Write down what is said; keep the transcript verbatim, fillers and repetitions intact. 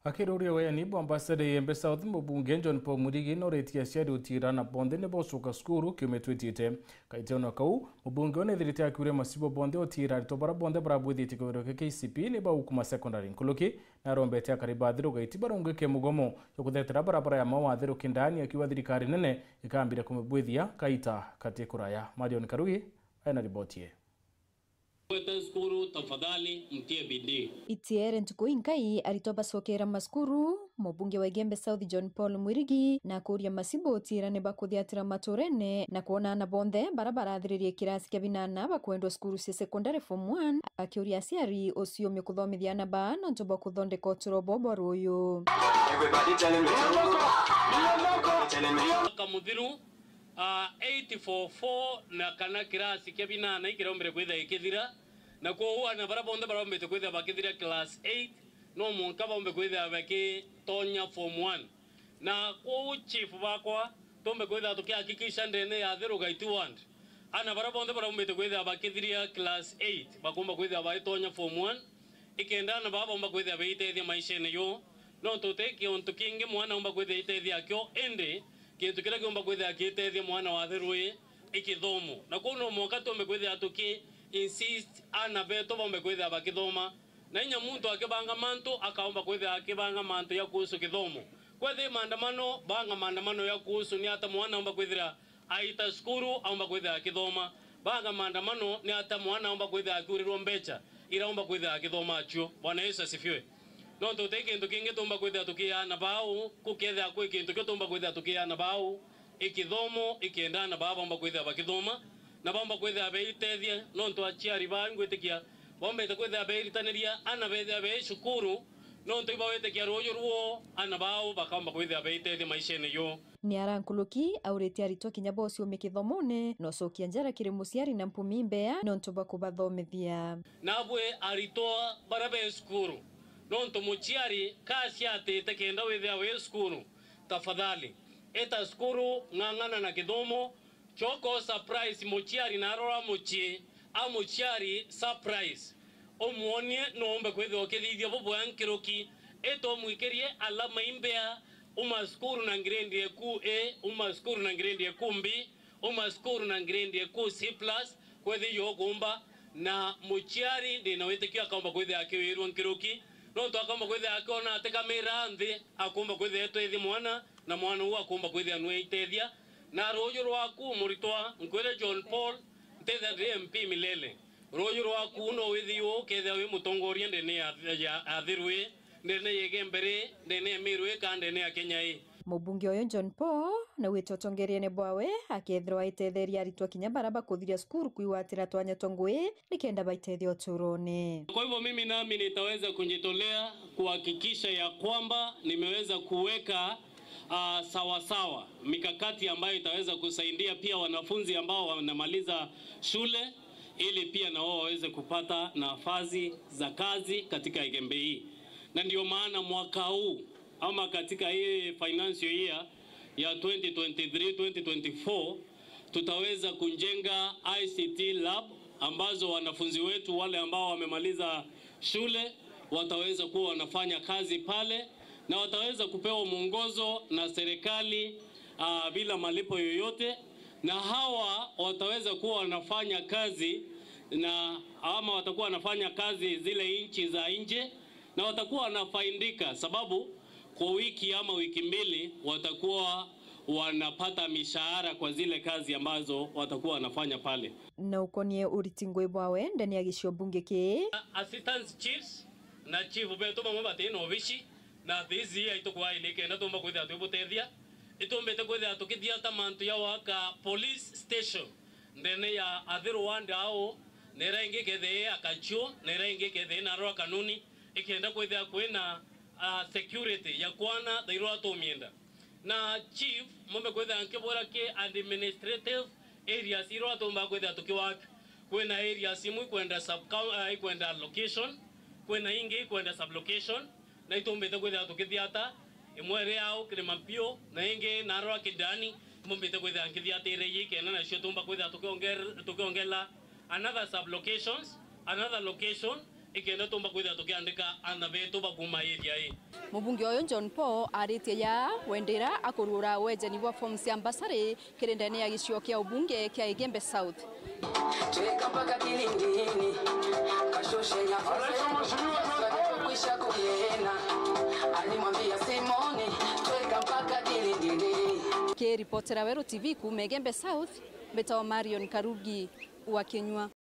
Akiruria weyani bwa Ambassador Igembe South, mubunge John Paul Mwirigi noritie aciari utiira ana bonthe ni bocoka cukuru kiumia twitite. Kaiti ona kau, mubunge uyu nethirite akiuria macibo bonthe utiira aritwa bara bonthe barabwithitie kigerio kia K C P e ni bagukuma secondary nkuruki, na arombete akari ba Athiru Gaiti barungike mugomo jwa kuthetera barabara ya Maua Athiru Kindani, akiuga thirikari nene ikambire kumibwithia kaita kati kuraya. Marion Karugi ena riboti ii. Kwete cukuru, tafadhali mtie bidii. Itiere ntuku inkai aritwa bacokera macukuru, mubunge wa Igembe South John Paul Mwirigi na akuria macibo utiira ni bakuthiatira maturene na kwona ana bonthe bara barathiririe kirasi kia binana bakwendwa cukuru cia secondary form one, akiuria aciari uciumia kuthomithia ana baa nontu bwa kuthondeka uturo bwao bwa ruuyu. Everybody tell me. Mwaka muthiru, ah, eight four four na kana kirasi kia binana ikiraumbire kwithira gikithira, na kwou ana bara bonthe baraumbite kwithira bakithira class eight, no mwanka baumbe kwithira bakitonya form one. Na kwou chief bakwa, tumbe kwithira tukihakikisha ndene ya Athiru Gaiti ward, ana bara bonthe baraumbite kwithira bakithiria class eight bakumba kwithira baitonya form one, ikenda ana baa baumba kwithira beitethia maishene yo, nontu ti kiuntu kingi mwana aumba kwithira eitethia akio, indi kintu kiria kiumba kwithira kiitethia mwana wa Athiru ii i kithomo. Na kwou no mwanka tumbe kwithira tuki insist ana betu baumbe kwithira bakithoma, na inya muntu akibanga mantu akaumba kwithira akibanga mantu ya kuhusu kithomo. Kwethira maandamano, banga maandamano ya kuhusu ni ata mwana aumba kwithira aita cukuru, aumba kwithira akithoma. Banga maandamano ni ata mwana aumba kwithira akiurirwa mbecha iraumba kwithira akithoma acio. Bwana Yesu asifiwe. Nontu ti kintu kingi tumba kwithira tukiana bau, kukethira kwi kintu kio tumba kwithira tukiana bau, i kithomo, ikenda ana baa baumba kwithira bakithoma, na baumba kwithira beitethia, nontu aciari baa ngwitikia baumbite kwithira beiritaniria ana bethira bei cukuru, nontu ibawitikia ruuju ruo ana bau bakaumba kwithira beitethia maishene yo. Ni ara nkuruki auritie aritwa kinya bociumia kithomone, na ucokia njara kiri muciari na mpumi mbea nontu bwa kubathomithia. Nabwe aritwa bara be cukuru, nontu muciari kaciatite kenda withira wi cukuru, tafadhali, ita cukuru, ng'ang'ana na kithomo, coka u surprise muciari na arora mucii, a muciari surprise. Umwonie no umbe kwithirwa ukithithia bubwega nkiruki, ita umwikirie alama imbea, uma cukuru na grade eku A, uma cukuru na grade eku B, uma cukuru na grade eku C plus, kwethirwa ukumba, na muciari ndina witikio akaumba kwithira akiwirwa nkiruki, nontu akaumba kwithira akiona atikamira nthi, akumba kwithira etwithia mwana, na mwana uu akumba kwithira nwe itethia. Na ruuju rwaku, muritwa, nkwire John Paul, ntethia ndi M P milele. Ruuju rwaku no withi uu, kethia wi mutongoria ndene ya, ya Athiru ii, ndene ya Igembe ri, ndene ya Meru ii, ka ndene ya Kenya ii. Mubunge uyu John Paul na wite utongeriene bwawe akethirwa aitetheria aritwa kinya bara bakuthiria cukuru kwigwatira twanya twa ngui nikenda baitethia uturone. Kwa hivyo mimi nami nitaweza kujitolea kuhakikisha ya kwamba nimeweza kuweka, ah, sawa sawa mikakati ambayo itaweza kusaidia pia wanafunzi ambao wanamaliza shule ili pia na wao waweze kupata nafasi za kazi katika Igembe hii. Na ndio maana mwaka huu ama katika hii financial year ya twenty twenty-three, twenty twenty-four, tutaweza kujenga I C T lab ambazo wanafunzi wetu wale ambao wamemaliza shule wataweza kuwa wanafanya kazi pale, na wataweza kupewa mwongozo na serikali, ah, bila malipo yoyote, na hawa wataweza kuwa wanafanya kazi na, ama watakuwa wanafanya kazi zile nchi za nje, na watakuwa wanafaidika, sababu kwa wiki ama wiki mbili watakuwa wanapata mishahara kwa zile kazi ambazo watakuwa wanafanya pale. Na ukonie uriti ngui bwawe ndene ya gicigo mbunge kii. Assistant chiefs na chief betu bamwe bati na obici, na thisi aitu kwaili kenda tumba kwithira twibutethia, itumbite kwithira tukithiata mantu ya waka police station ndene ya Athiru ward au, na ira ingi kethia i Akachio, na ira ingi kethia i Narua Kanuni, ikenda kwithia kwina, ah, security ya kwana thairwa tumienda. Na chief, mumbe kwithia nkibwira ki administrative areas irwa tumba kwithia tukiwaka. Kwina areas imwe ikwenda sub-, ah, ikwenda location, kwina ingi ikwenda sub-location, na itumbite kwithia tukithiata, imwe iri au Kirima Mpio, na ingi Narua Kindani, mbumbite kwithia nkithiatire ii kenda nacio tumba kwithia tukionge-, tukiongela another sub-locations, another location, ikenda tumba kwithira tukiandika ana betu ba kuuma area ii. Mubunge uyu John Paul aritie ya wendera akurura wejani bwa form cia mbasari kiri ndene ya gicio kia ubunge kia Igembe South. Tweka mpaka kilindini, kashushe nyafuze, kwisha kuliena, alimwambia Simoni, tweka mpaka kilindini. Kiripotera Weru T V kuuma Igembe South, mbitagwa Marion Karugi wa Kinyua.